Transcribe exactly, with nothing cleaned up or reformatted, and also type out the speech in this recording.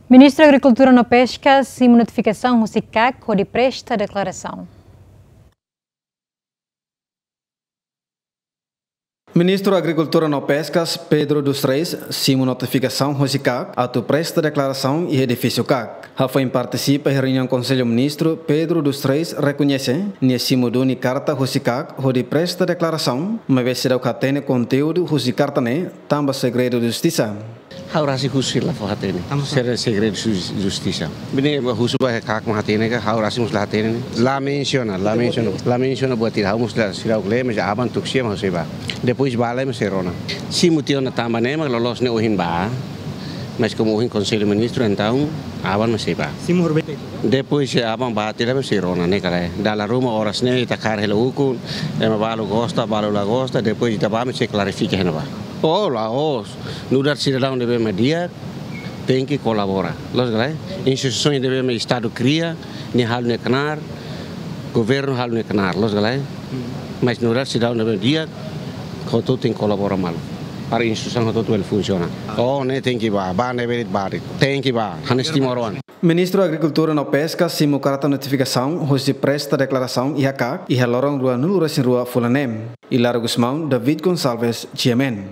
Ministru Agrikultura no Peska simu notifikasaun husi kak hodi presta deklarasaun. Ministru Agrikultura no Peskas, Pedro dos Reis, simu notifikasaun husi kak atu presta deklarasaun iha edifísiu kak. Hafoin partisipa iha reuniaun Konsellu Ministru, Pedro dos Reis rekoñese nia simu duni karta husi kak hodi presta deklarasaun, maibé seidauk hatene konteúdu husi karta ne'e tanba segredu justisa. Ha'u rasik husu sira la fó hatene. Tanba sá? Sira segredu jus-, justisa. Bene, husu ba kak mak hatene ka, ha'u rasik mós la hatene. La mensiona, la mensiona. La mensiona buat ida, ha'u mós la, seidauk lee, mas aban tuku sia mak ha'u sei bá. Depois bá lai mak sei rona. Simu tiha ona tanba ne'e mak loloos ne'e ohin bá. Mas komu ohin Konsellu Ministru, entaun aban mak sei bá. Simu horibainhira? Depois, eh, aban bá tiha lai mak sei rona, ne'e ka lae. Dala ruma oras ne'e ita kaer hela ukun, ema balu gosta, balu la gosta, depois ita bá mak sei klarifika iha ne'ebá. Oh, la'ós. Nu'udar sidadaun ne'ebé mak di'ak, tenke kolabora. Loos ka lae? Instituisaun ne'ebé mak Estadu kria, nia halo nia knaar, governu halo nia knaar, loos ka lae? Mas nu'udar sidadaun ne'ebé mak di'ak, hotu-hotu tenke kolabora malu. Para instituisaun hotu-hotu bele funsiona. Oh, ne'e tenke bá, bá ne'ebé de'it bá de'it. Tenke bá, hanesan timoroan. Ministru Agrikultura no Peska simu karta notifikasaun husi presta deklarasaun iha kak, iha loron ruanulu-resin-rua fulan ne'e. Hilario Gusmão, David Gonçalves, G M N.